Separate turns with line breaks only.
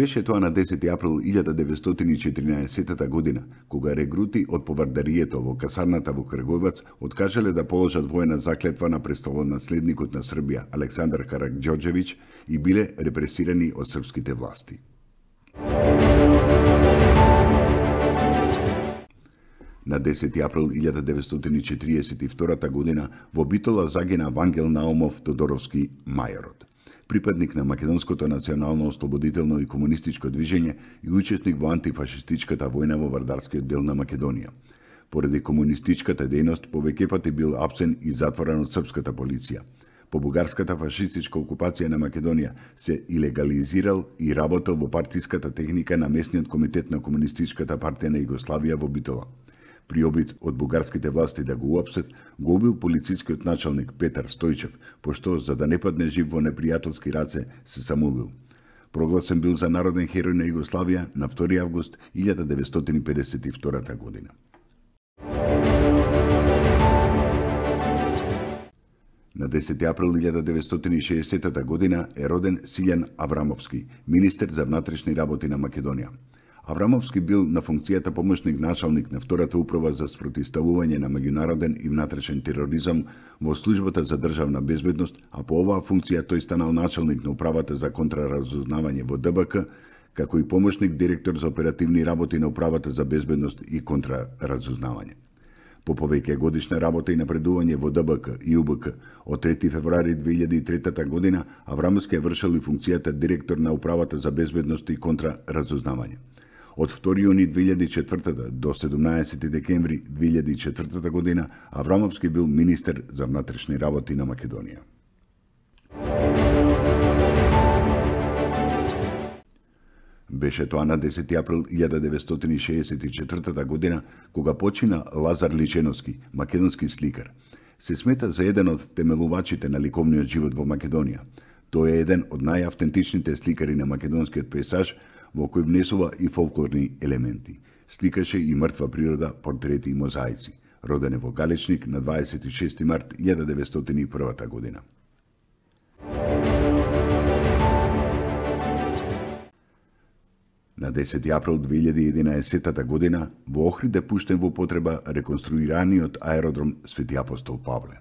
Беше тоа на 10 април 1914 година, кога регрути од повардарието во касарната во Крагуевац откажале да положат воена заклетва на престолонаследникот на Србија Александар Караѓорđević и биле репресирани од српските власти. На 10 април 1942 година во Битола загина Вангел Наумов Тодоровски мајорот, припадник на македонското национално ослободително и комунистичко движење и учесник во антифашистичката војна во Вардарскиот дел на Македонија. Поради комунистичката дејност повеќе пати бил апсен и затворен од српската полиција. По бугарската фашистичка окупација на Македонија се илегализирал и работел во партиската техника на местниот комитет на Комунистичката партија на Југославија во Битола. При обид од бугарските власти да го уапсет, го убил полицискиот началник Петар Стојчев, пошто за да не падне жив во непријателски раце се самоубил. Прогласен бил за народен херој на Југославија на 2 август 1952 година. На 10 април 1960 година е роден Силјан Аврамовски, министер за внатрешни работи на Македонија. Аврамовски бил на функцијата помошник началник на втората управа за спротивставување на меѓународен и внатрешен тероризам во службата за државна безбедност, а по оваа функција тој станал началник на управата за контраразузнавање во ДБК, како и помошник директор за оперативни работи на управата за безбедност и контраразузнавање. По повеќе годишна работа и напредување во ДБК и УБК, од 3 февруари 2003 година Аврамовски е вршил и функцијата директор на управата за безбедност и контраразузнавање. Од 2 јуни 2004 до 17 декември 2004 година Аврамовски бил министер за внатрешни работи на Македонија. Беше тоа на 10 април 1964 година, кога почина Лазар Личеновски, македонски сликар. Се смета за еден од темелувачите на ликовниот живот во Македонија. Тој е еден од најавтентичните сликари на македонскиот пейзаж, во кој внесува и фолклорни елементи. Сликаше и мртва природа, портрети и мозаици. Роден е во Галичник на 26 март 1901 година. На 10 април 2011 година во Охрид е пуштен во потреба реконструираниот аеродром Свети Апостол Павле.